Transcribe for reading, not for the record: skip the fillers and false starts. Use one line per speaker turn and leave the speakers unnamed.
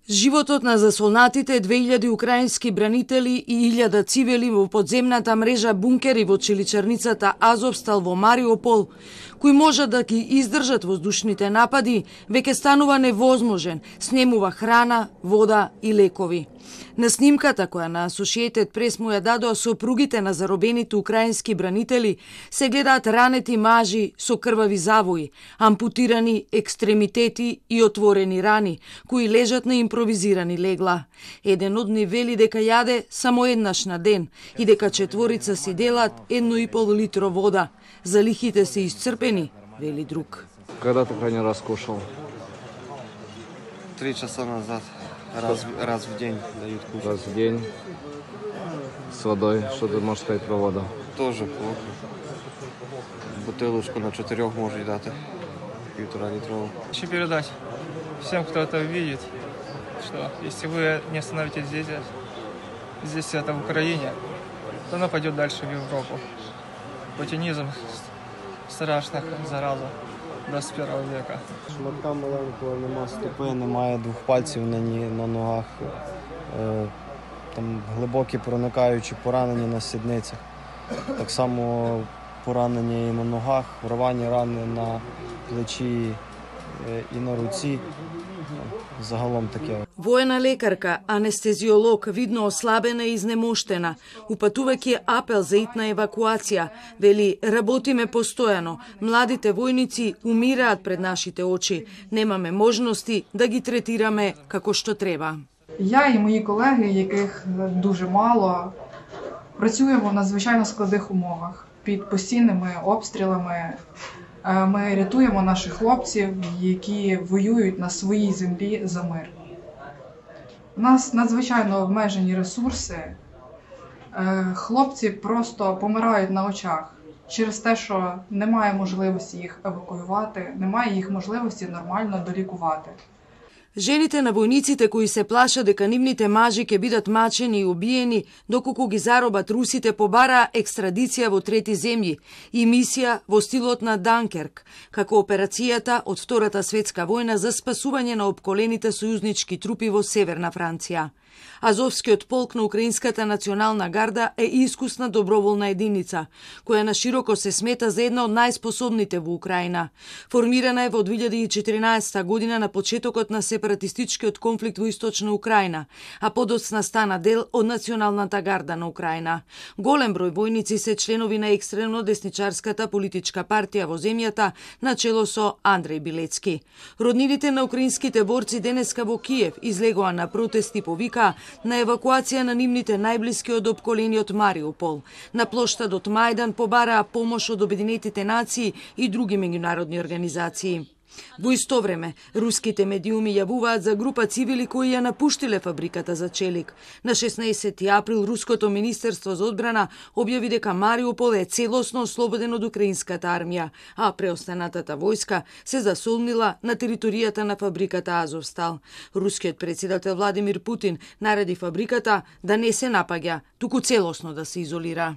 Животот на засолнатите 2000 украински бранители и 1000 цивили во подземната мрежа бункери во чиличарницата Азовстал во Мариупол, кои можат да ги издржат воздушните напади, веќе станува невозможен, снемува храна, вода и лекови. На снимката која на Associated Press му ја дадоа сопругите на заробените украински бранители, се гледаат ранети мажи со крвави завои, ампутирани екстремитети и отворени рани, кои лежат на импровизирани легла. Еден од нив вели дека јаде само еднаш на ден и дека четворица си делат 1,5 литро вода. Залихите се исцрпени, вели друг.
Когда ты крайний раз кушал?
3 часа назад. Раз в день дают кушать.
Раз в день. С водой. Что ты можешь сказать про воду?
Тоже плохо. Бутылочку на 4 может дать. 1,5 литровую.
Хочу передать всем, кто это видит, что если вы не остановитесь здесь это в Украине, то оно пойдет дальше в Европу. Путинизм страшна зараза 21 века.
Шматка маленького, нема стопи, немає 2 пальців на ногах. Там глибокі проникаючі поранення на сідницях. Так само поранення і на ногах, рвані рани на плечі и на руци. Загалом таке.
Воена лекарка, анестезиолог, видно ослабена и изнемоштена, упатувајќи апел за итна евакуација, вели, работиме постојано, младите војници умираат пред нашите очи, немаме можности да ги третираме како што треба.
Я і мої колеги, яких дуже мало, працюємо в надзвичайно складних умовах, під постійними обстрілами. Ми рятуємо наших хлопців, які воюють на своїй землі за мир. У нас надзвичайно обмежені ресурси. Хлопці просто помирають на очах через те, що немає можливості їх евакуювати, немає їх можливості нормально долікувати.
Жените на војниците кои се плашат дека нивните мажи ќе бидат мачени и убиени доколку ги заробат русите, побараа екстрадиција во трети земји и мисија во стилот на Данкерк, како операцијата од Втората светска војна за спасување на опколените сојузнички трупи во Северна Франција. Азовскиот полк на Украинската национална гарда е искусна доброволна единица, која нашироко се смета за една од најспособните во Украина. Формирана е во 2014 година на почетокот на сепаратистичкиот конфликт во Источна Украина, а подоцна стана дел од Националната гарда на Украина. Голем број војници се членови на екстремно десничарската политичка партија во земјата на чело со Андреј Билецки. Роднините на украинските борци денеска во Киев излегоа на протести повика на евакуација на нивните најблиски од опколениот Мариупол. На плоштадот Мајдан побараа помош од Обединетите нации и други меѓународни организации. Во исто време, руските медиуми јавуваат за група цивили кои ја напуштиле фабриката за челик. На 16 април Руското министерство за одбрана објави дека Мариупол е целосно ослободен од украинската армија, а преостанатата војска се засолнила на територијата на фабриката Азовстал. Рускиот претседател Владимир Путин нареди фабриката да не се напаѓа, туку целосно да се изолира.